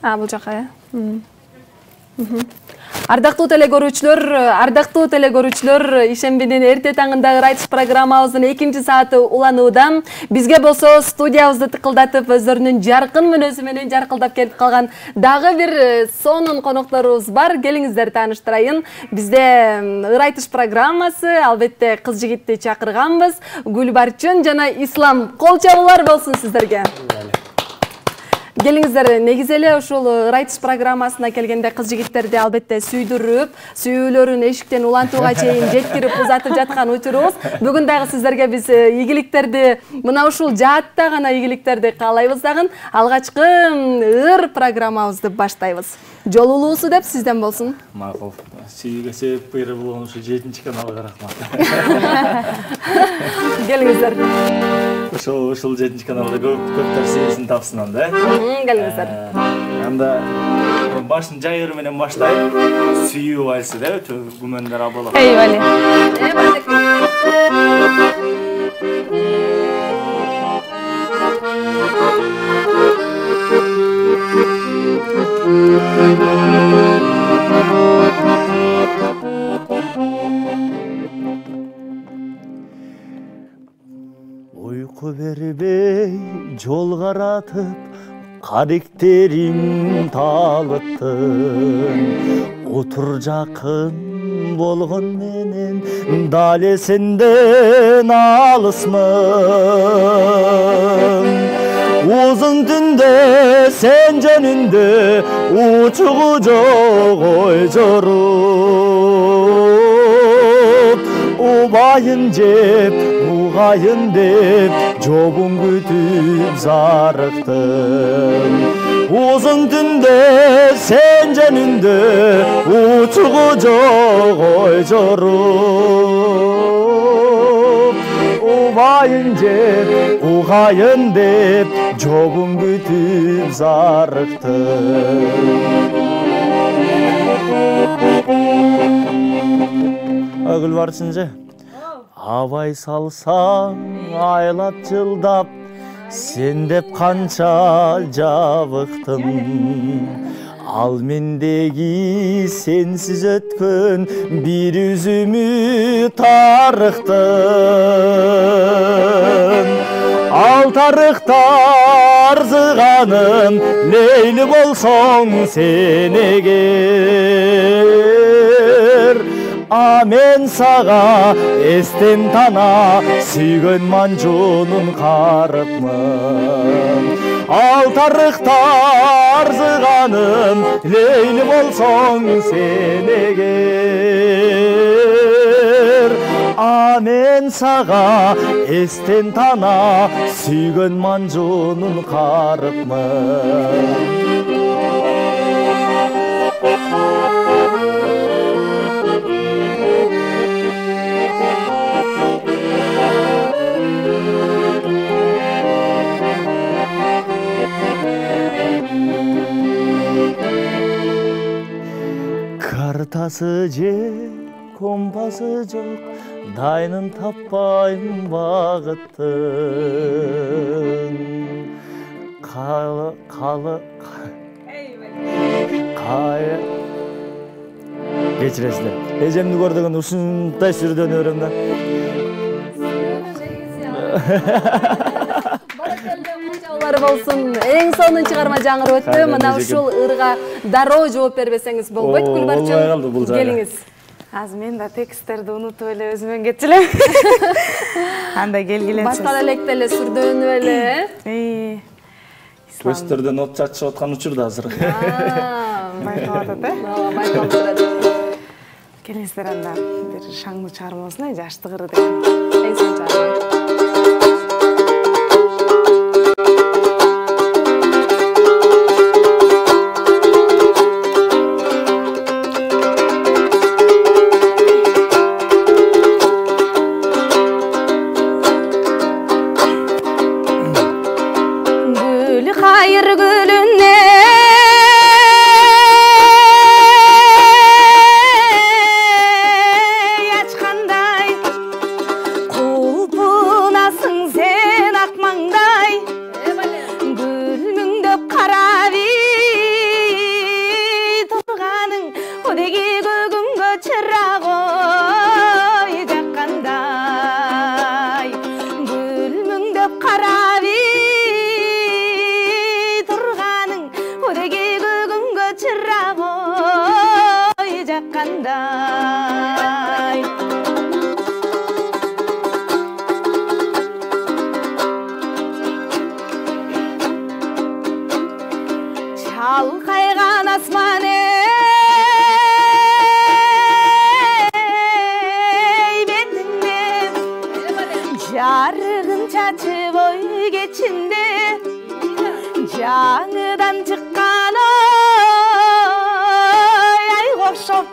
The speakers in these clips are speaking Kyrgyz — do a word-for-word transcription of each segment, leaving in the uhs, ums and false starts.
А, бул жака, э? Ардактуу телекөрүүчүлөр, ардактуу телекөрүүчүлөр, ишембинин эрте таңындагы Райтыш программабыздын экинчи сааты уланууда. Бизге болсо студиябызды тыкылдатып, өздөрүнүн жаркын мүнөзү менен жаркылдап келип калган дагы бир сонун конокторубуз бар. Келиңиздер тааныштырайын. Бизде Райтыш программасы, албетте кыз жигитти чакырганбыз. Гүлбарчын жана Ислам. Кол чабуулар болсун сиздерге. Келиңиздер, негизи эле ушул Райтыш программасына келгенде кыз жигиттерди албетте сүйдүрүп, сүйүүлөрүн эшиктен улантууга чейин жеткирип узатып жаткан учурубуз. Бүгүн дагы сиздерге биз ийгиликтерди, мына ушул жаатта гана ийгиликтерди каалайбыз дагы. Алгачкы ыр программабызды баштайбыз. Жолулуусу деп сизден болсун. Макул. Сүйүүгө себеп берип болгон ушу жетинчи каналга рахмат. Келиңиздер. Ошол ушул жетинчи каналда көп көптөр сүйүүсүн тапсын анда, э? Келиңиздер. Анда башын жайыр менен баштайт. Сүйүү вальси деп, күмөндөр абалап. Эй, Вали. Uyku бербей жол каратып, каректерим талыттын. Отур жакын болгон менен дале сенден алысмын. Uzun tünde sen jönündө учугу жок ой жоруп, убайын жеп угайын деп жобун күтүп зарыктым. Uzun tünde sen jönündө учугу жок ой жоруп, убайын жеп угайын деп жобун күтүп зарыктым. Гүлбарчынжы, абай салсаң айлап жылдап, сен деп канча жабыктым. Ал мендеги сенсиз өткөн бир үзүмү тарыктын. Ал тарыхта арзыганым Лейли болсоң сен эгер. А мен сага эстен тана сүйгөн манжунун карыпмын. Ал тарыхта арзыганым Лейли болсоң сен эгер. А мен сага эстен тана сүйгөн манжунун карыпмын. Картасы же компасы жок, дайнын таппайм багыттын. Калы калы кай кечиресиздер. Эжемди көрдөгөн ушундай сүрдөнүп берем да. Болсун. Эң сонун чыгарма жаңырып өттү. Мына ушул ырга дароо жооп бербесеңиз болбойт. Гүлбарчын, келиңиз. Азыр мен да тексттерди унутуп эле өзүмөн кетчү элем. Анда келгиле. Башка электе эле сүрдөнүп эле. Эй. Көстөрдөн от чачып аткан учурда азыр. Байкалып атат, э? Ооба, байкалып турат. Келиңиздер анда бир шаңдуу чыгарма болсун, жаштык ыры деген. Эң сонун чыгарма. Açkanday kulpu кандай. Çalkaygan asman ey betinde, jarıgın çaçıp oy geçinde, жаңыдан чыккан ой ай окшоп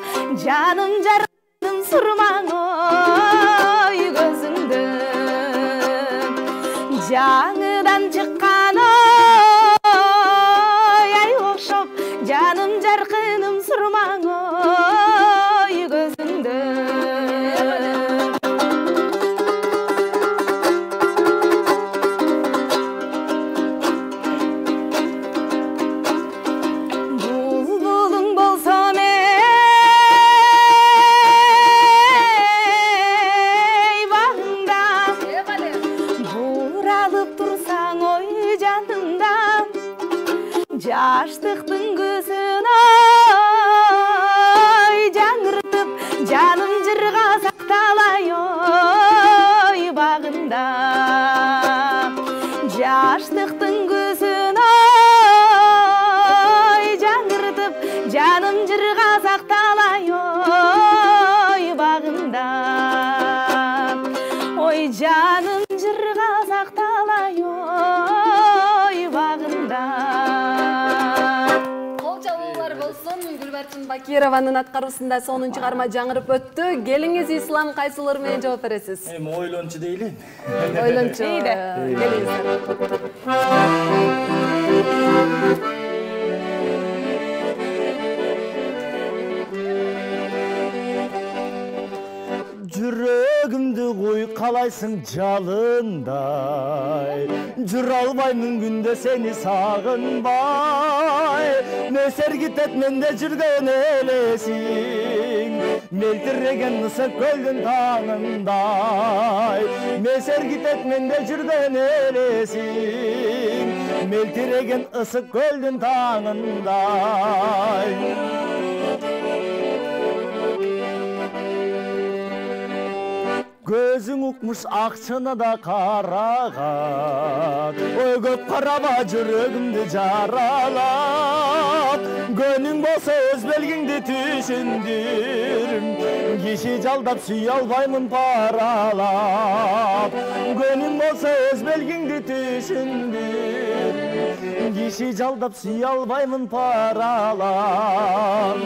жаным жардым сурмаң ой көзүңдө. Жаңыдан чыккан ой ай окшоп жаным жаркыным сурмаң ой көзүңдө. Жаштыктын көзүн ой жаңыртып жаным жырга сакталай ой багында. Жаштыктын көзүн ой жаңыртып жаным жырга сакталай ой багында. Ой жаным жырга сакталай ой багында. Гүлбарчын Бакированын аткаруусунда сонун чыгарма жаңырып өттү. Келиңиз Ислам кайсылар менен жооп бересиз? Эми ойлончу дейли. Ойлончу. Келиңиздер. Жүрөгүмдү куйкалайсың жалындай, жүрө албаймын күндө сени сагынбай. Месергитет менде жүргөн элесиң, мелтиреген ысык көлдүн таңындай. Месергитет менде жүргөн элесиң, мелтиреген ысык көлдүн таңындай. Көзүң укмуш акчаны да карагат, ой көп караба жүрөгүмдү жаралап. Көнүң болсо өз белгиңди түшүндүр, киши жалдап сүйө албаймын паралап. Көнүң болсо өз белгиңди түшүндүр, киши жалдап сүйө албаймын паралап.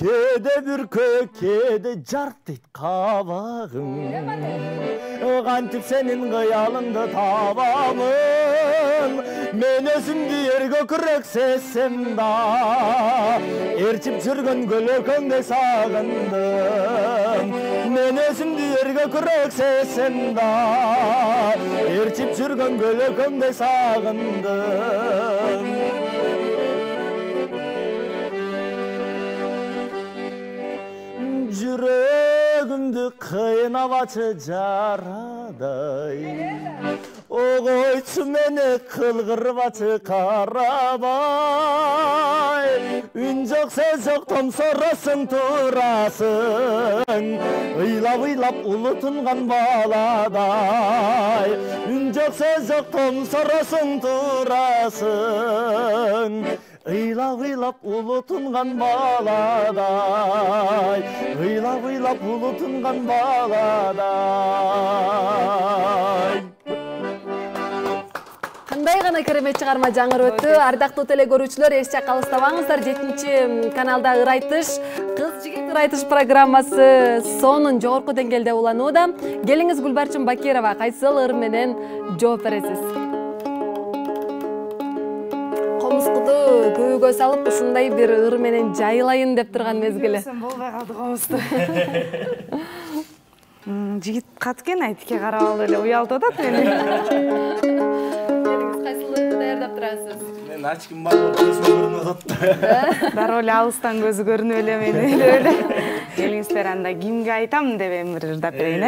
Кеде бүркө, кеде жарт дейт кабагың, кантип сенин кыялыңды табамын. Мен өзүмдү эрге күрөк сезсем да, эрчип жүргөн көлөкөңдөй сагындым. Мен өзүмдү эрге күрөк сезсем да, эрчип жүргөн көлөкөңдөй сагындым. Жүрөгүмдү кыйнабачы жарадай, огойчу мени кылгырбачы карабай. Үн жок, сөз жок, томсоросуң турасың, ыйлап-ыйлап улу тунган баладай. Үн жок, сөз жок, томсоросуң турасың, ыйлап-ыйлап улу тунган баладай. Ыйлап-ыйлап улу тунган баладай. Кандай гана керемет чыгарма жаңырып өттү. Ардактуу теле көрүүчүлөр, эч жакка алыстабаңыздар. жетинчи каналда ырайтыш, кыз жигит ырайтыш программасы сонун жогорку деңгээлде уланууда. Келиңиз Гүлбарчын Бакирова, кайсыл ыр менен жооп бересиз? Комускуду күүгө салып, ушундай бир ыр менен жайылайын деп турган мезгили. Болбой калды комусту. Жигит каткен айтке карап алып эле уялтып атат мени. Келиңиз кайсыл ырды даярдап турасыз? Мен ачкым бар болуп көзүм көрүнүп атат. Дароо эле алыстан көзү көрүнүп эле мени эле. Келиңиздер анда кимге айтам деп эми ырдап берейин, э?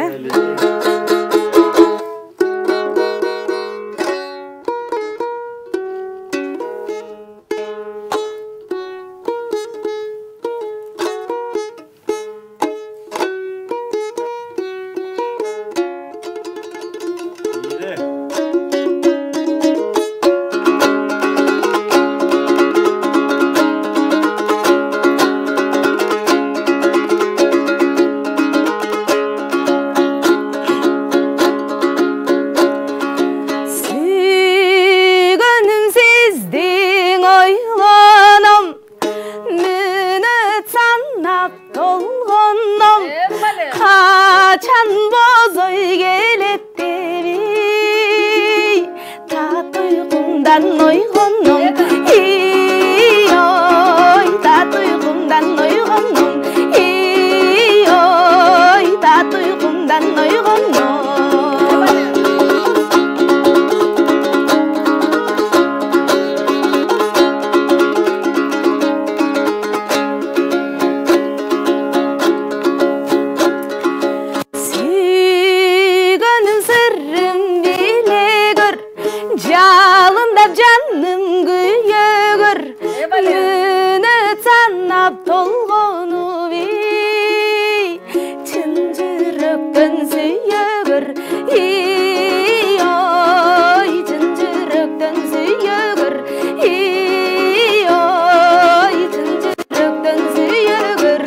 чannap толгондом качан бозой келет деби тат уйкумдан ойгондом ой тат уйкумдан ойгондом ой тат уйкумдан ойгондом жаным күйөгөр күнү санап толгонуп чын жүрөктөн сүйөгөр ой чын жүрөктөн сүйөгөр ой чын жүрөктөн сүйөгөр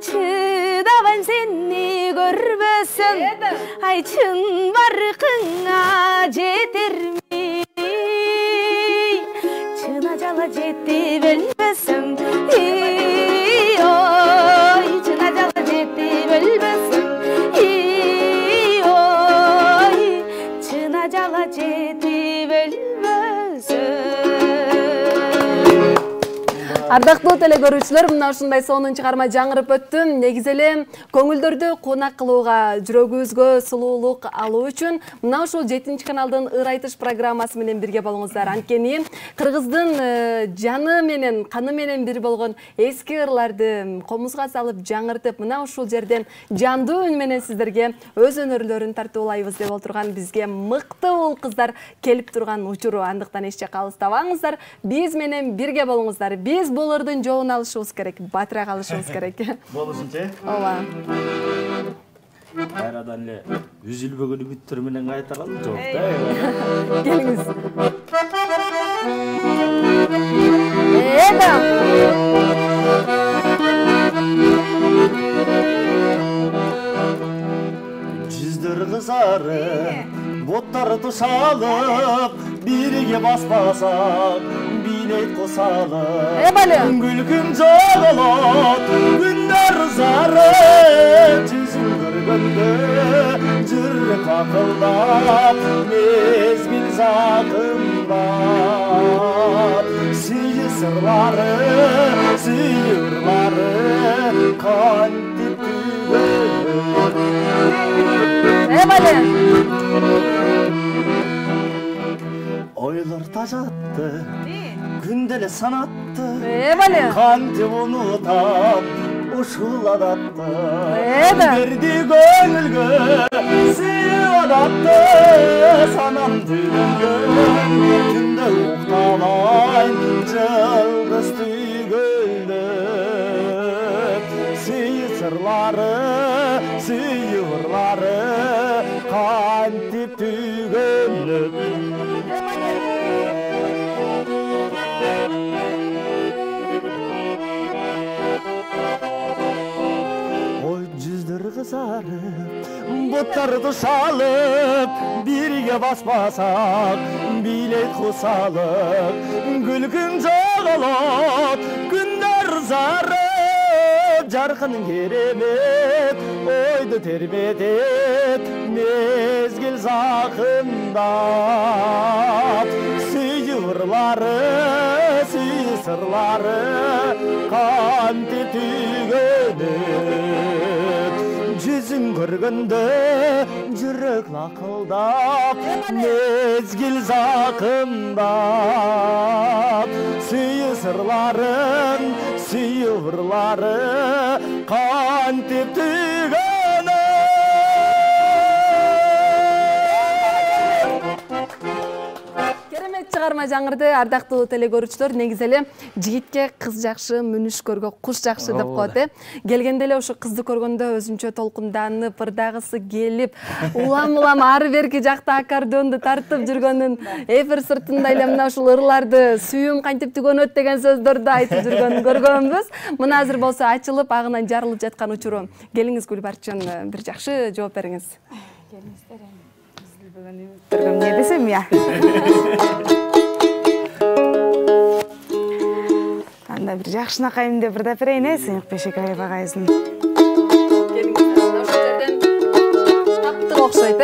чыдабайм сени көрбөсөм ай чын баркыңа жетерми чын ажала жетип өлбөсөм ой чын ажала жетип өлбөсөм ой чын ажала жетип өлбөсөм. Ардактуу теле көрүүчүлөр, мына ушундай сонун чыгарма жаңырып өттү. Негизи эле көңүлдөрдү конак кылууга, жүрөгүбүзгө сулуулук алуу үчүн мына ушул жетинчи каналдын ыр айтыш программасы менен бирге болуңуздар. Анткени кыргыздын жаны менен, каны менен бир болгон эски ырларды комузга салып жаңыртып, мына ушул жерден жандуу үн менен сиздерге өз өнөрлөрүн тартуулайбыз деп отурган бизге мыкты уул кыздар келип турган учуру. Андыктан эч жакка алыстабаңыздар, биз менен бирге болуңуздар. Биз булардын жолун алышыбыз керек, батыраак алышыбыз керек. Болушунча? Ооба. Кайрадан эле үзүлбөгөн үмүттөр менен кайтаралы жок да. Келиңиз. Эда. Жүздөр кызары, боттар тушалып, бирге баспасак, билет косалып, күлкүм жоголот, күндөр зары, жүзүн көргөндө, жүрөк акылдап, мезгил закымдап, сүйүү сырлары, сүйүү ырлары, кантип түгөлөт. Ойлор тажатты, күндө эле санатты, кантип унутам ушул адатты. Берди көңүлгө сүйүү адатты, санам түгөнгөн, түндө уктабайм жылдыз түгөлдөп. Сүйүү сырлары, сүйүү ырлары, кантип түгөнөт. Ой жүздөр кызарып, боттарды шалып, бирге баспасак, билет кусалып, күлкүм жоголот, күндөр зарып, жаркын керемет, ойду тербетет, мезгил закымдап, сүйүү ырлары, сүйүү сырлары, кантип түгөнөт. Жүзүн көргөндө, жүрөк лакылдап, мезгил закымдап, сүйүү сырларын, сүйүү ырлары, кантип түгөнөт. чыгарма жаңырды, ардактуу телекөрүүчүлөр. Негизи эле жигитке кыз жакшы, мүнүшкөргө куш жакшы деп коет э. Келгенде эле ошо кызды көргөндө өзүнчө толкунданып, ырдагысы келип, улам-улам ары берки жакта аккордеонду тартып жүргөнүн, эфир сыртында эле мына ушул ырларды сүйүүм кантип түгөнөт деген сөздөрдү айтып жүргөнүн көргөнбүз. Мына азыр болсо ачылып, агынан жарылып жаткан учуру. Келиңиз Гүлбарчын, бир жакшы жооп бериңиз. Келиңиздер эми. Биз бүгүн турган эмне десем я. Анда бир жакшынакай эмне бир да берейин э, Сыйык Бешекаев агайыбыздын. Келиңиздер, ошол жерден таптык окшойт э.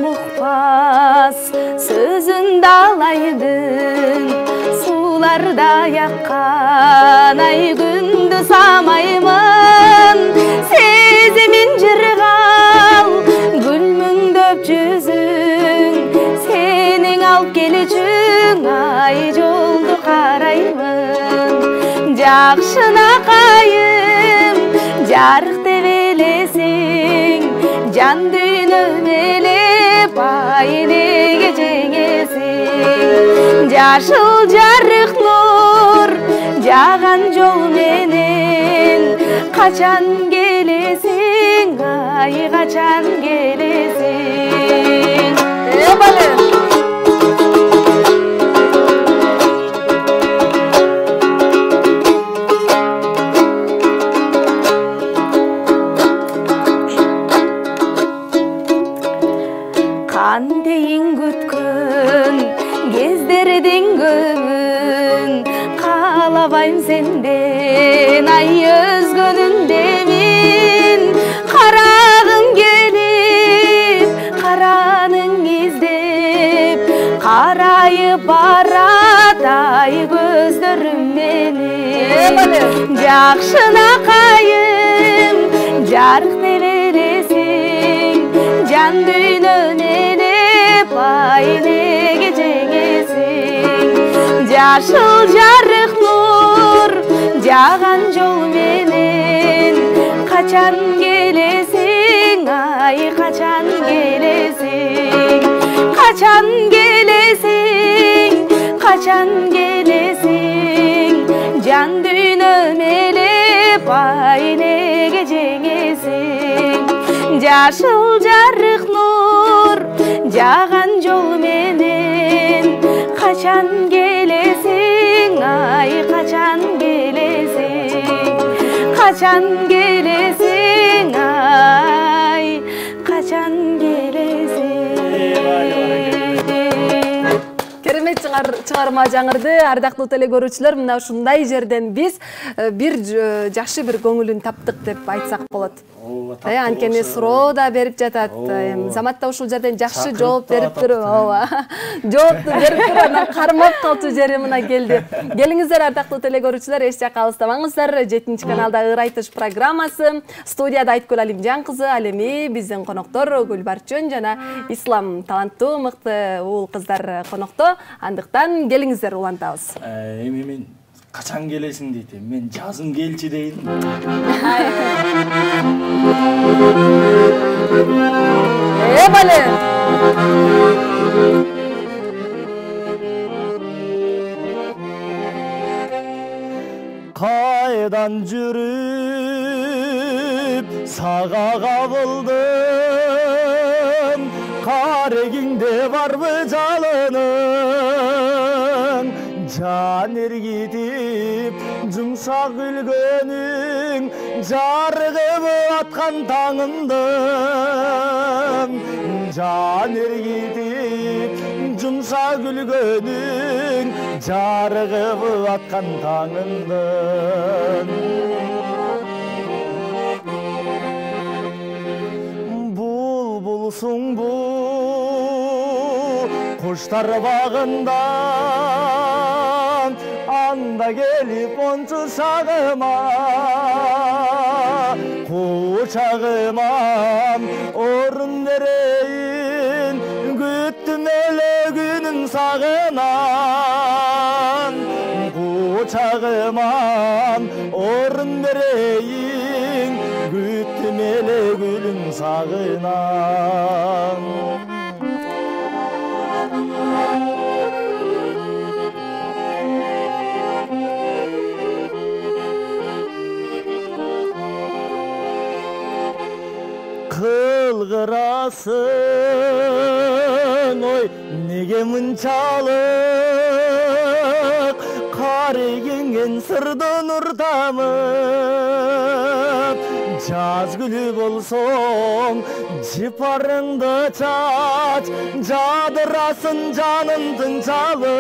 Мукпас сөзүн далайдын сууларда яккан ай күндү самаймын сезимин жыргал гүлмүңдөп жүзүң сенин алып келүүчүң ай жолду караймын жакшынакайым жарык деп элесиң жан дүйнөм элеп айнеге жеңесиң жашыл жарык нур жаган жол менен качан келесиң ай качан келесиң э бале кандейин күткөн кездердин көбүн каалабайм сенден ай өзгөнүндө мен карагым келип караның издеп карайып барат ай көздөрүм менен жакшынакайым жарык деп элесиң жан дүйнөм элеп айнеге жеңесиң жашыл жарык нур жаган жол менен качан келесиң ай качан келесиң качан келесиң качан келесиң жан дүйнөм элеп айнеге жеңесиң жашыл жарык нур жаган жол менен качан келесиң ай качан келесиң качан келесиң ай качан келесиң. Керемет чыгарма жаңырды, ардактуу телекөрүүчүлөр. Мына ушундай жерден биз бир жакшы бир көңүлүн таптык деп айтсак болот. Э, анткени суроо да берип жатат. Замат да ушул жерден жакшы жооп берип туруп, ооба. Жоопту берип туруп, анан кармап калчу жери мына келди. Келиңиздер ардактуу телекөрүүчүлөр, эч жакка алыстабаңыздар. жетинчи каналда Ыр айтыш программасы. Студияда Айткүл Алимжан кызы, ал эми биздин коноктор Гүлбарчын жана Ислам, таланттуу, мыкты уул кыздар конокто. Андыктан келиңиздер, улантабыз. Эми мен качан келесиң дейт, мен жазым келчи дейин. Э бале. Кайдан жүрүп сага кабылдым, карегиңде барбы жалының, жан эргитип жумшак күлгөнүң, жарыгып аткан таңымдын, жан эргитип жумшак күлгөнүң, жарыгып аткан таңымдын. Булбулсуң бу куштар багында, анда келип ончу шагыма, кучагыма орун берейин, күттүм эле күнүм сагынам. орун берейин, күттүм эле гүлүң сагынан. Кылгырасың ой неге мынчалык, карыйгенген сырдын уртамып, жаз гүлү болсоң жыпарыңды чач, жадырасын жаным тынчалып.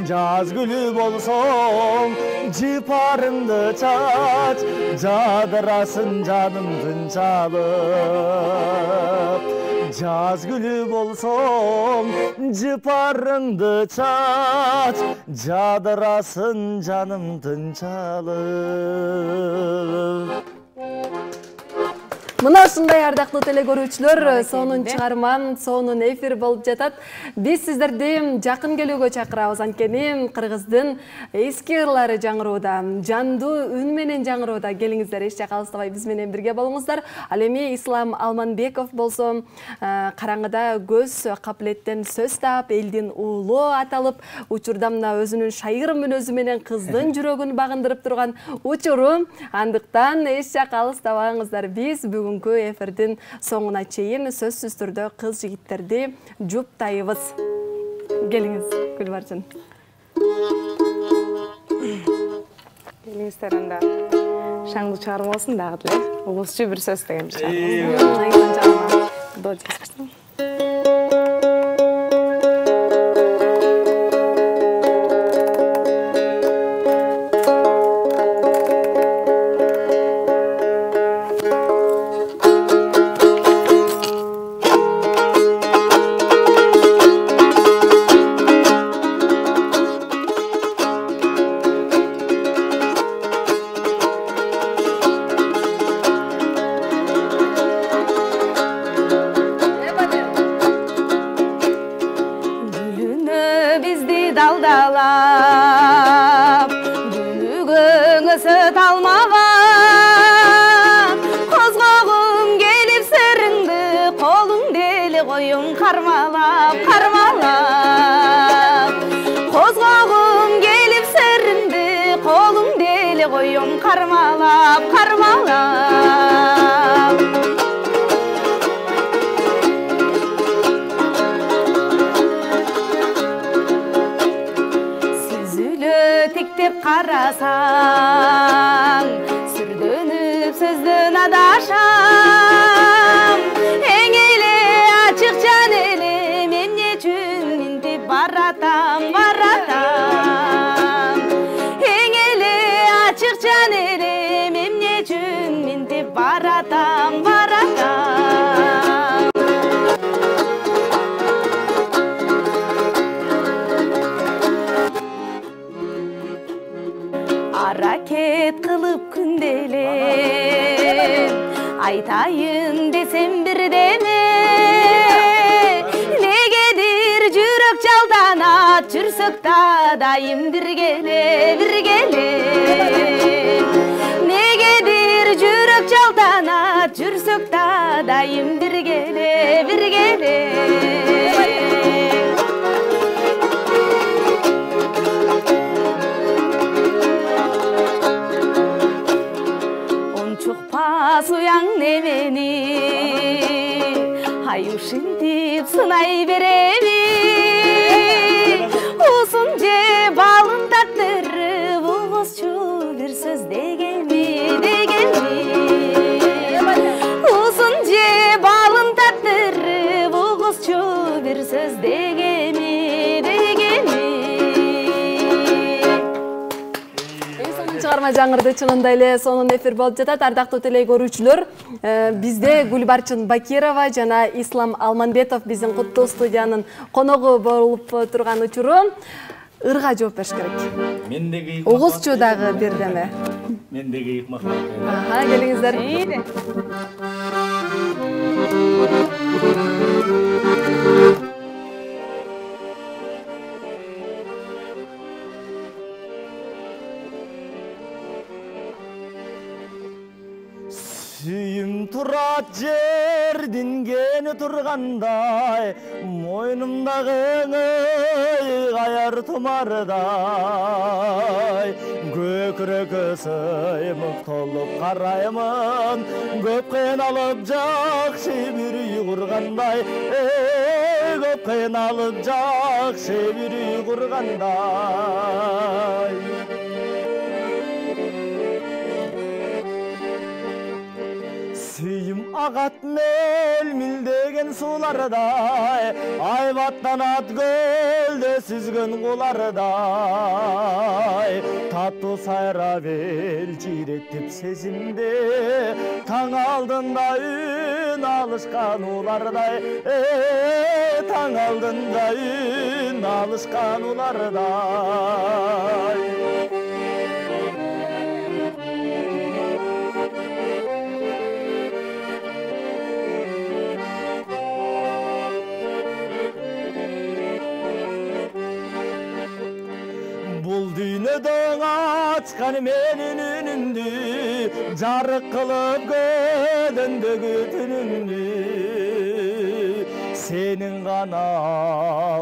Жаз гүлү болсоң жыпарыңды чач, жадырасын жаным тынчалып. Жаз гүлү болсоң жыпарыңды чач, жадырасын жаным тынчалып. Мына ушундай ардактуу теле көрүүчүлөр, сонун чыгарма, сонун эфир болуп жатат. Биз сиздерди жакын келүүгө чакырабыз, анткени Кыргыздын эски ырлары жаңырууда, жандуу үн менен жаңырууда. Келиңиздер, эч жакка алыстабай биз менен бирге болуңуздар. Ал эми Ислам Алманбеков болсо, караңгыда көз капилеттен сөз таап, элдин уулу аталып, учурда мына өзүнүн шайыр мүнөзү менен кыздын жүрөгүн багындырып турган учуру. Андыктан эч жакка алыстабаңыздар. Биз бүгүнкү эфирдин соңуна чейин сөзсүз түрдө кыз жигиттерди жуптайбыз. Келиңиз, Гүлбарчын. Келиңиздер, анда шаңдуу чыгарма болсун дагы деле. Улусчу бир сөз деген чыгарма. До жазгычтым. далдалап дүнүгөңө сөт алмаган козгогум келип сырыңды колуң дели коюм кармалап кармалап козгогум келип сырыңды колуң дели коюм кармалап кармалап тиктеп карасаң сүрдөнүп сөздөн адашам эң эле ачык жан элем эмне үчүн минтип баратам баратам эң эле ачык жан элем эмне үчүн минтип баратам баратам аракет кылып күнделеп айтайын десем бирдеме негедир жүрөк жалданат жүрсөк да дайым биргеле биргеле негедир жүрөк жалданат жүрсөк да дайым биргеле биргеле суяң немени ай ушинтип сынай береби узун же балын таттырып угузчу бир сөз дегенми дегенми узун же балын таттырып угузчу бир сөз дегенми дегенми чыгарма жаңырды, чынында эле сонун эфир болуп жатат. Ардактуу теле көрүүчүлөр, бизде Гүлбарчын Бакирова жана Ислам Алманбетов биздин куттуу студиянын коногу болуп турган учуру ырга жооп бериш керек. Мендеги угузчу дагы бирдеме. Мендеги ыкмак. Аха, келиңиздер. Сүйüm турат жердин кени тургандай, мойнумдагы каяр тумардай. Көкүрөккө сыймык толуп караймын, көп кыйналып жакшы бир үй кургандай, көп кыйналып жакшы бир үй кургандай. Сүйüm агат мел-милдеген суулардай, айбаттанат көлдө сүзгөн кулардай. Таттуу сайрап элчиретип сезимде, таң алдында үн алышкан улардай, таң алдында үн алышкан улардай. Бул дүйнөдөн ачкан менин үнүмдү, жарык кылып көлөндөгү түнүмдү. Сенин гана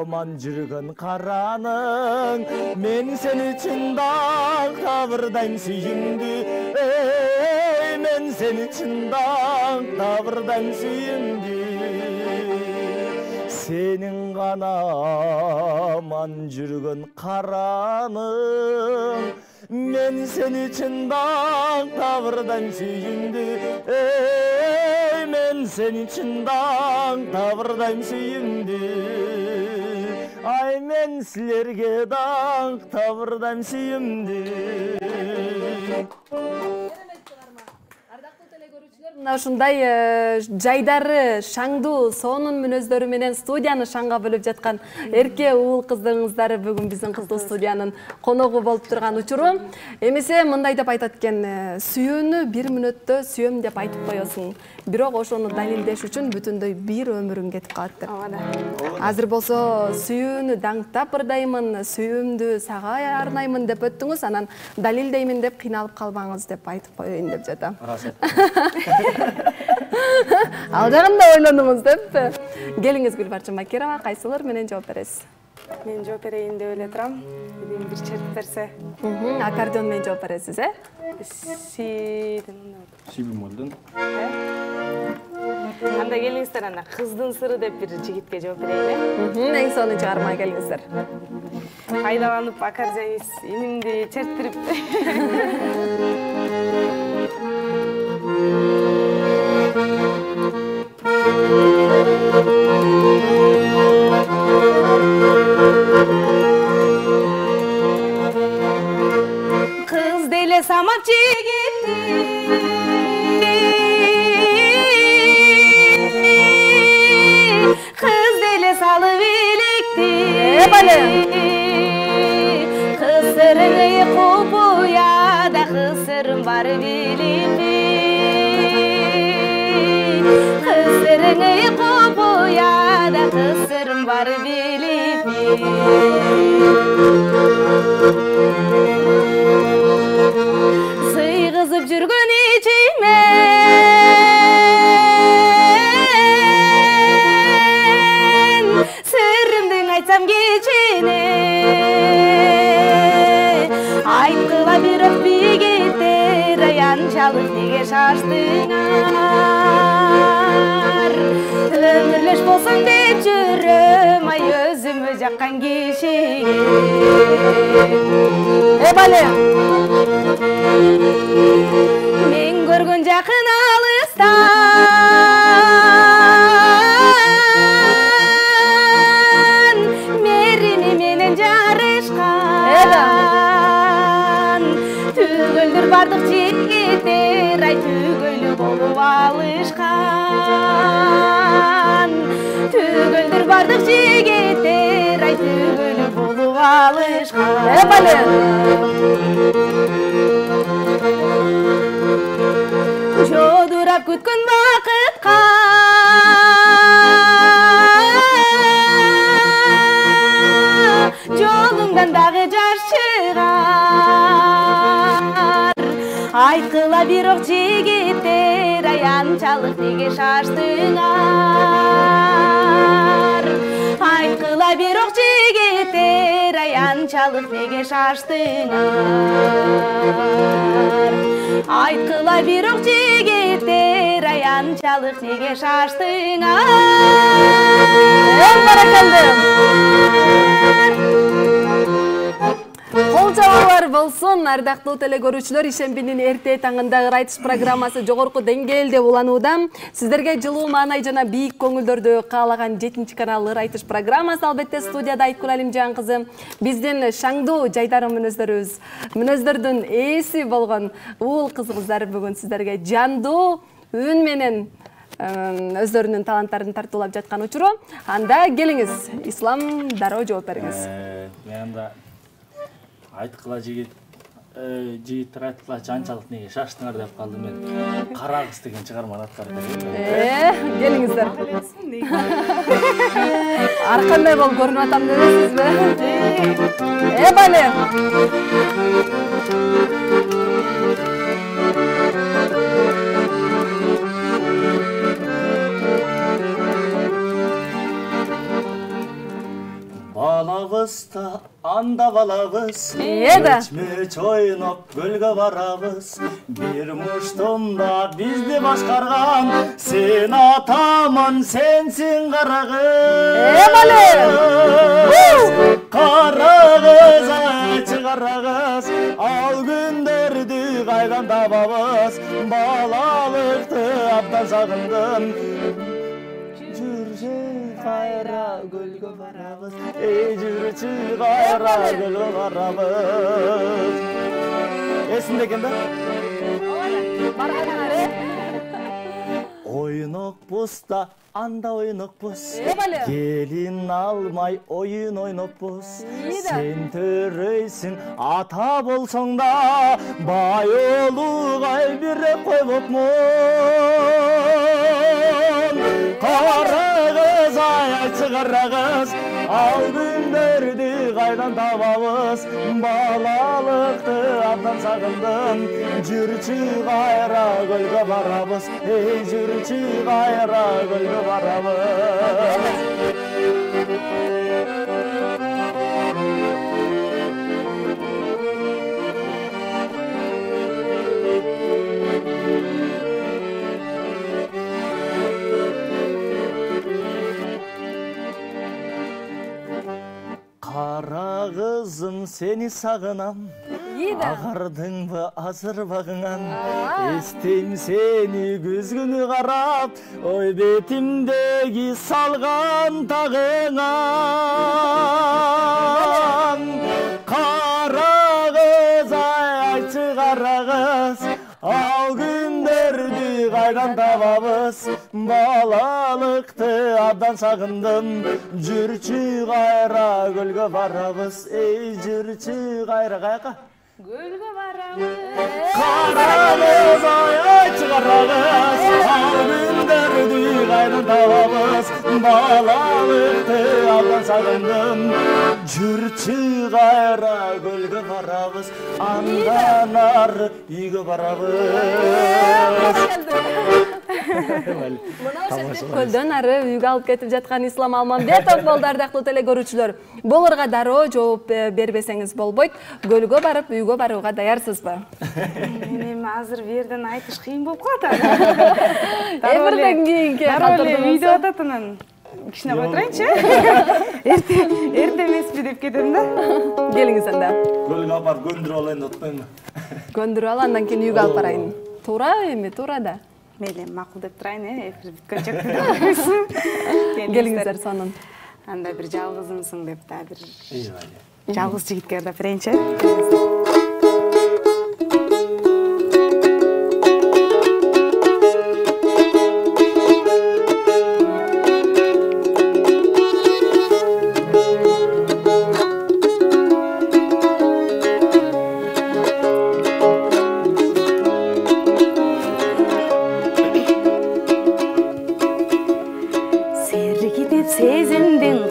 аман жүргөн караның, мен сен үчүн даг табырдайм сүйүмдү. Мен сен үчүн даг табырдайм сүйүмдү. Сенин гана аман жүргөн караның, мен сен үчүн даг табырдайм сүйүмдү. Мен сен үчүн даг табырдайм сүйүмдү. Ай, мен силерге даг табырдайм сүйүмдү. Мына ушундай жайдары, шаңдуу, сонун мүнөздөрү менен студияны шаңга бөлүп жаткан эрке уул кыздырыңыздары бүгүн биздин кыздуу студиянын коногу болуп турган учуру. Эмесе мындай деп айтат экен, сүйүүнү бир мүнөттө сүйөм деп айтып коесуң, бирок ошону далилдеш үчүн бүтүндөй бир өмүрүң кетип калат деп. Азыр болсо сүйүүнү даңктап ырдаймын, сүйүүмдү сага арнаймын деп өттүңүз, анан далилдеймин деп кыйналып калбаңыз деп айтып коеюн деп жатам. Ал жагында ойлонуңуз деп. Келиңиз Гүлбарчын Бакирова, кайсылар менен жооп бересиз? Мен жооп берейин деп эле турам. Бир чертип берсе. Аккордеон менен жооп бересиз, э? Си Си бемолдон. Анда келиңиздер, анда кыздын сыры деп бир жигитке жооп берейин, э? Эң сонун чыгарма келиңиздер. Кайдаланып аккордеонист инимди черттирип. Kız dele samap çigiti, kız dele salı bilikti. E bale. Kız sırrını kupuya da kız sırrın var bilimdi. Kız sırrını kupuya da kız sırrın var bilimdi. Sıygızıp жүргөн içime, sırrımdın aytsam geçine. Aytkıla bir öpü getir, yançalık nege şaştыңар. Ömürleş bolsun dep жүрөm, ay özümü jakkan kişiге. E bale. Men көргөн жакын алыстан, мерими менен жарышкан. Түгөлдөр бардык жигиттер, ай түгөлү болуп алышкан. Түгөлдөр бардык жигиттер, ай түгөлү болуп алышкан. Э бале. Жодурап күткөн бакытка, жолуңдан дагы жаш чыгар. айткыла бирок жигиттер аянчалык неге шаштыңар айткыла бирок жигиттер аянчалык неге шаштыңар айткыла бирок жигиттер аянчалык неге шаштыңар Баракалды. Кол жабуулар болсун, ардактуу телекөрүүчүлөр, ишембинин эрте таңындагы айтыш программасы жогорку деңгээлде уланууда. Сиздерге жылуу маанай жана бийик көңүлдөрдү каалаган жетинчи канал ыр айтыш программасы, албетте студияда Айткүл Алимжан кызы. Биздин шаңдуу жайдары мүнөздөрүбүз, мүнөздөрдүн ээси болгон уул кызыбыздар бүгүн сиздерге жандуу үн менен өздөрүнүн таланттарын тартуулап жаткан учуру. Анда келиңиз, Ислам дароо жооп бериңиз. Мен анда айткыла жигит жигиттер айткыла жанчалык неге шаштыңар деп калдым мен. Кара кыз деген чыгарманы аткарып берем. Э, келиңиздер. Ар кандай болуп көрүнүп атам дебесизби? Э, бале. Балабызда анда балабыз, Эда. Өчмөч ойноп көлгө барабыз. Бир муштумда бизди башкарган, сен атаман, сенсиң карагыз. Э, бале. Карагыз, айчы карагыз, ал күндөрдү кайдан табабыз? Балалыкты абдан сагындым. Жүрчү кайра көлгө барабыз, эй жүрчү кайра көлгө барабыз. Эсинде экен да? Ойнокпуз да, анда ойнокпуз. Келин алмай оюн ойноппуз. Сен төрөйсүң, ата болсоң да, бай улугай бирек койбопмун. Карагыз, айчы карагыз, ал күндөрдү кайдан табабыз? Балалыкты абдан сагындым. Жүрчү кайра көлгө барабыз, эй жүрчү кайра көлгө барабыз. Кара кызым, сени сагынам, агардыңбы азыр багыңан? Эстейм сени күз күнү карап, ой бетимдеги салган тагыңан. Кара кыз, айчы кара кыз, ал күндөрдү кайдан табабыз? Балалыкты абдан сагындым. Жүрчү кайра көлгө барабыз, эй жүрчү кайра каяка? Көлгө барабыз. Карагыз, айчы карагыз, ал күндөрдү кайдан табабыз? Балалыкты абдан сагындым. Жүрчү кайра көлгө барабыз, андан ары үйгө барабыз. Көлдөн ары үйгө алып кетип жаткан Ислам Алмамбетов болду, ардактуу телекөрүүчүлөр. Болорго дароо жооп бербесеңиз болбойт. Көлгө барып үйгө барууга даярсызбы? Эми азыр бу жерден айтыш кыйын болуп калат. Эбирден кийинки калтырдыңыз. Үйдө ататынан кичине кой турайынчы. Эрте эрте эмеспи деп кетем да. Келиңиз анда. Көлгө апарып көндүрүп алайын деп атпаймынбы? Көндүрүп ал, андан кийин үйгө алып барайын. Туура эми, туура да. Мейли, макул деп турайын, э, эфир бүткөнчө. Келиңиздер сонун. Анда бир жалгызымсың деп да бир Эйбай. жалгыз жигитке да берейинчи.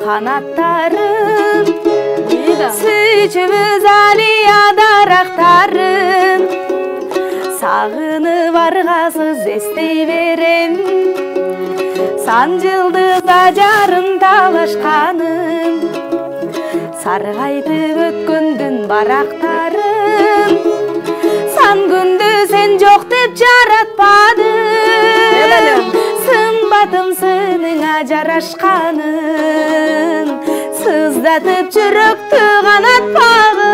Kanatlarım Süçümüz aliya daraqtarım сагынып аргасыз эстей берем сан жылдыз ажарын талашканым саргайтып өткөндүн барактарын сан күндү сен жок деп жаратпадым сымбатым сыныңа жарашканын сыздатып жүрөктү канатпагын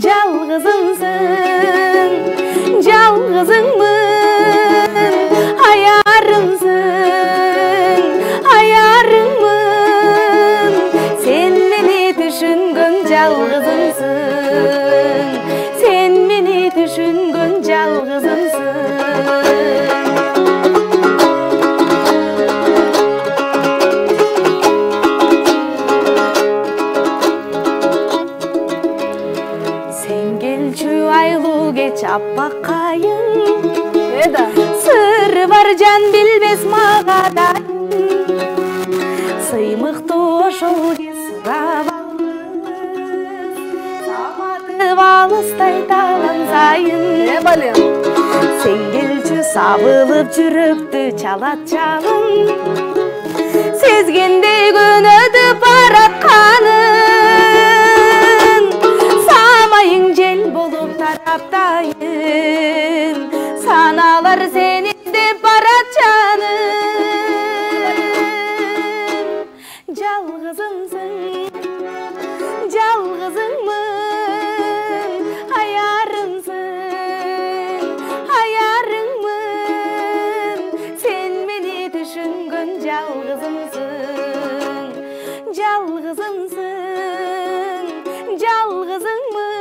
жалгызымсың жалгызыңмын аярымсың аярыңмын сен мени түшүнгөн жалгызымсың сен мени түшүнгөн жалгызымсың аппакайың эда сыры бар жан билбес мага да сыймыктуу ошол кез сурап алып саматып алыстай талан сайын э балем сен келчү сабылып жүрөктү чалат жалын сезгендей көнөдү баратканын самайың жел болуп тараптайын саналар сени деп барат жаным жалгызымсың жалгызыңмын аярымсың аярыңмын сен мени түшүнгөн жалгызымсың жалгызымсың жалгызыңмын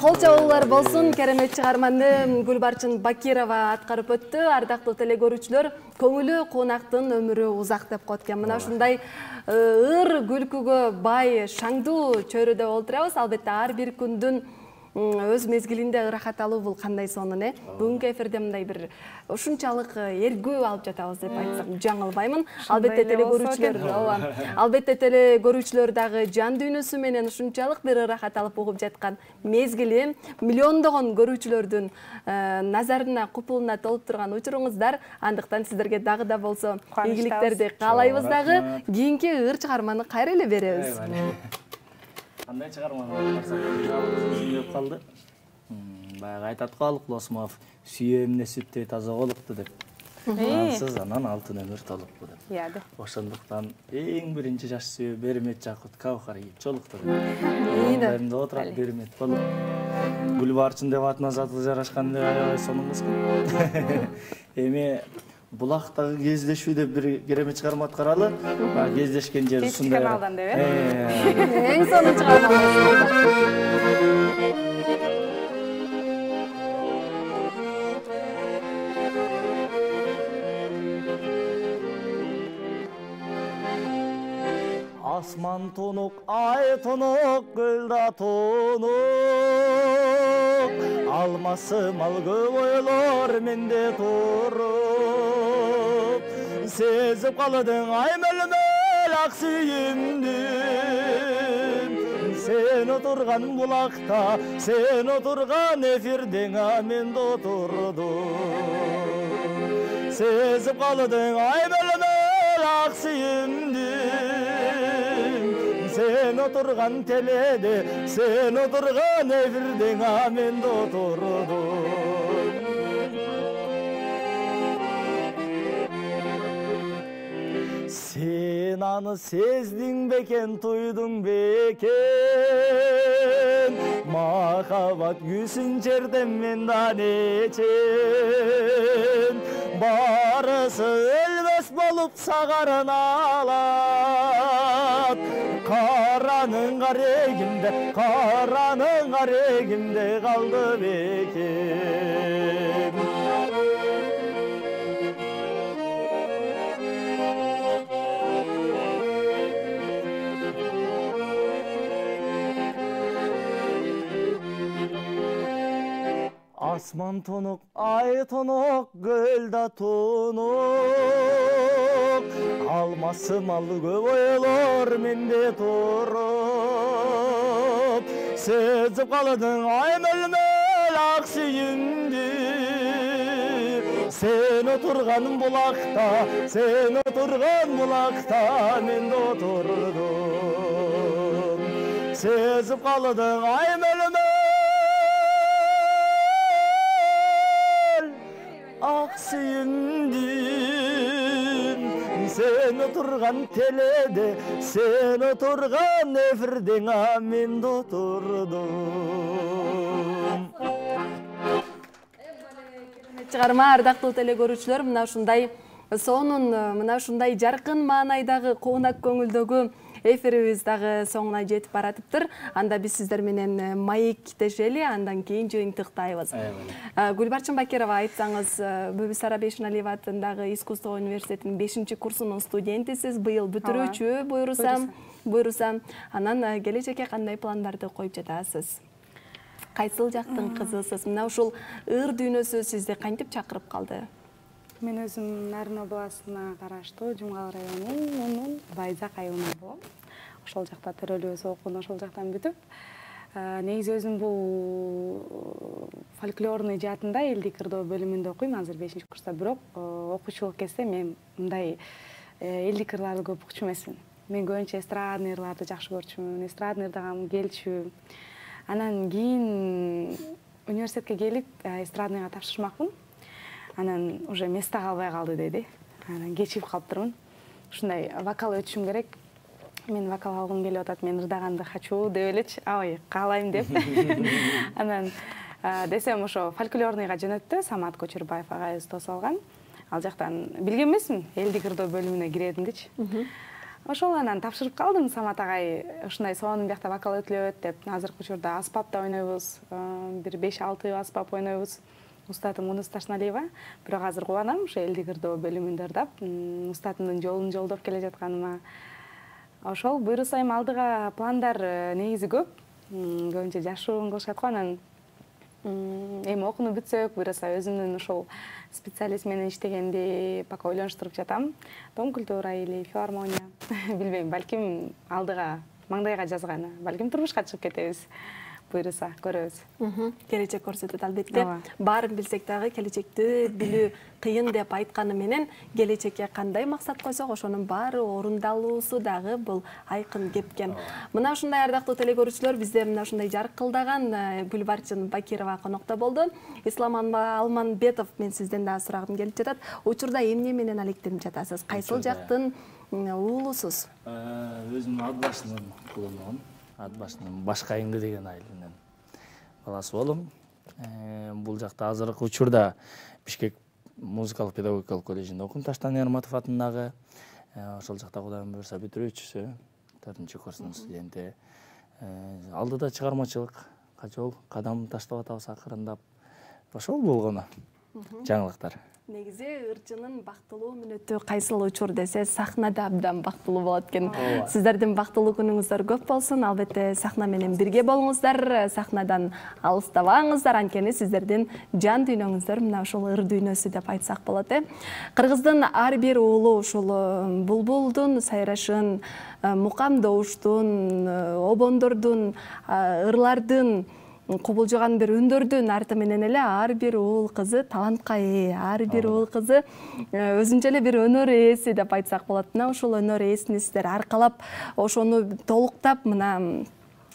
Кол чабуулар болсун. Керемет чыгарманы Гүлбарчын Бакирова аткарып өттү. Ардактуу теле көрүүчүлөр, көңүлү кунактын өмүрү узак деп коет экен. Мына ушундай ыр күлкүгө бай шаңдуу чөйрөдө олтурабыз. Албетте ар бир күндүн өз мезгилинде ырахат алуу бул кандай сонун, э? Бүгүнкү эфирде мындай бир ушунчалык эргүү алып жатабыз деп айтсам жаңылбаймын. Албетте теле көрүүчүлөр, ооба. Албетте теле көрүүчүлөр дагы жан дүйнөсү менен ушунчалык бир ырахат алып угуп жаткан мезгили, миллиондогон көрүүчүлөрдүн назарына, купулуна толуп турган учуруңуздар. Андыктан сиздерге дагы да болсо ийгиликтерди каалайбыз дагы. Кийинки ыр чыгарманы кайра эле беребиз. Кандай чыгарманы барсак деп калды. Баягы айтат го Алык Досмов, сүйө эмне сүттөй таза болупту деп. Ансыз анан алтын өмүр толупту деп. Иә да. Ошондуктан эң биринчи жаш сүйө Бермет Жакут Каухар кийипчолукту деп. Мындай отурат Бермет болуп. Гүлбарчын деп атына заты жарашкан деп аябай сонун кыз. Эми булактагы кездешүү деп бир керемет чыгарма аткаралы. Кездешкен жер ушундай. Каналдан деп, э? Эң сонун чыгарма. Асман тунук, ай тунук, көл да тунук. Алмасы мал көп ойлор менде туруп. Сезип калдың ай мөлмөл ак сүйүмдү. Сен отурган булакта, сен отурган эфирден мен отурдум. Сезип калдың ай мөлмөл ак сүйүмдү. Sen oturgan telede, sen oturgan evirden amen oturdum. Sen anı sezdin beken, tuydun beken. Makabat yüzün cerden mendan eçen. Barısı ölmez bolup sağarın alat. Karanın garigimde, karanın garigimde kaldı bekim. Асман тонук, ай тонук, көл да тонук. Алмасы малы көп ойлор менде туруп. Сезип калдың ай мөлмөл ак сүйүмдү. Sen oturgan bulakta, sen oturgan bulakta men de oturdum. Sezip kaldın ay mölmöl ak suyumdun. Sen oturgan telede, sen oturgan efirden men de oturdum. Чыгарма ардактуу теле көрүүчүлөр, мына ушундай сонун, мына ушундай жаркын маанайдагы коонак көңүлдөгү эфирибиз дагы соңуна жетип баратыптыр. Анда биз сиздер менен маектешели, андан кийин жыйынтыктайбыз. Гүлбарчын Бакирова, айтсаңыз, Бүбүсара Бейшеналиева атындагы искусство университетинин бешинчи курсунун студентисиз, быйыл бүтүрүүчү буйруса, буйруса. Анан келечекке кандай пландарды коюп жатасыз? Кайсыл жактын кызысыз? Мына ушул ыр дүйнөсү сизди кантип чакырып калды? Мен өзүм Нарын областына караштуу Жумгал районунун Байзак айылынан болом. Ошол жакта төрөлүүбүз окуну ошол жактан бүтүп, негизи өзүм бул фольклорный жаатында элдик ырдоо бөлүмүндө окуйм, азыр бешинчи курста, бирок окуучулук кезде мен мындай элдик ырларды көп укчу эмесмин. Мен көбүнчө эстрадный ырларды жакшы көрчүмүн, эстрадный ырдаган келчү. Анан кийин университетке келип эстрадныйга тапшырмакмын. Анан уже место калбай калды деди. Анан кечигип калыптырмын. Ушундай вокал өтүшүм керек. Мен вокал алгым келип атат, мен ырдаганды хочу деп элечи, ой, каалайм деп. Анан десем ошо фольклорныйга жөнөттү, Самат Көчөрбаев агайыбыз тосалган. Ал жактан билген эмесмин, элдик ырдоо бөлүмүнө киредим дечи. Ошол анан тапшырып калдым. Самат агай ушундай сонун биякта вокал өтүлөт деп, азыркы учурда аспапта ойнойбуз, бир беш алты аспап ойнойбуз. Устатым Мунуз Ташналиева. Бирок азыр кубанам, ушу элдик ырдоо бөлүмүндө ырдап, устатымдын жолун жолдоп келе жатканыма. Ошол буйруса эми алдыга пландар негизи көп. Көбүнчө жашыруун кылышат го. Анан эми окууну бүтсөк, буйруса өзүмдүн ошол специалист менен иштегенди пока ойлонуштуруп жатам. Дом культура или филармония. Билбейм, балким алдыга маңдайга жазганы, балким турмушка чыгып кетебиз. Буйруса көрөбүз. Келечек көрсөтөт албетте. Баарын билсек дагы келечекти билүү кыйын деп айтканы менен келечекке кандай максат койсок, ошонун баары орундалуусу дагы бул айкын кепкен. Мына ушундай ардактуу теле көрүүчүлөр, бизде мына ушундай жаркылдаган Гүлбарчын Бакирова конокто болду. Ислам Алманбетов, мен сизден дагы сурагым келип жатат. Учурда эмне менен алектенип жатасыз? Кайсыл жактын уулусуз? Өзүм ат башынын кулунмун. Ат башынын Башкайыңды деген айылынын баласы болом. Бул жакта азыркы учурда Бишкек музыкалык педагогикалык коллежинде окуйм, Таштан Ярматов атындагы. Ошол жакта Кудайым буйруса бүтүрүүчүсү, төртүнчү курстун студенти. Алдыда чыгармачылык, качол кадам таштап атабыз акырындап. Ошол болгону жаңылыктар. Негизи ырчынын бактылуу мүнөтү кайсыл учур десе, сахнада абдан бактылуу болот экен. Сиздердин бактылуу күнүңүздөр көп болсун. Албетте сахна менен бирге болуңуздар, сахнадан алыстабаңыздар, анткени сиздердин жан дүйнөңүздөр мына ушул ыр дүйнөсү деп айтсак болот э. Кыргыздын ар бир уулу ушул булбулдун сайрашын, мукам добуштун, обондордун, ырлардын кубулжуган бир үндөрдүн арты менен эле ар бир уул кызы талантка ээ, ар бир уул кызы өзүнчө эле бир өнөр ээси деп айтсак болот. Мына ушул өнөр ээсин сиздер аркалап, ошону толуктап мына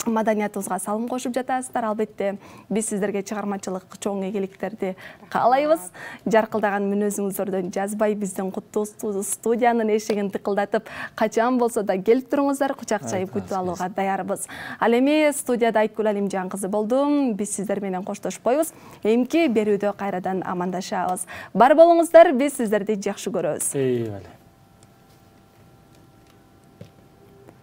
маданиятыбызга салым кошуп жатасыздар. Албетте биз сиздерге чыгармачылык чоң ийгиликтерди каалайбыз. Жаркылдаган мүнөзүңүздөрдөн жазбай биздин куттуу студиянын эшигин тыкылдатып, качан болсо да келип туруңуздар, кучак чайып күтүп алууга даярбыз. Ал эми студияда Айткүл Алимжан кызы болдум. Биз сиздер менен коштошпойбуз. Эмки берүүдө кайрадан амандашабыз. Бар болуңуздар, биз сиздерди жакшы көрөбүз.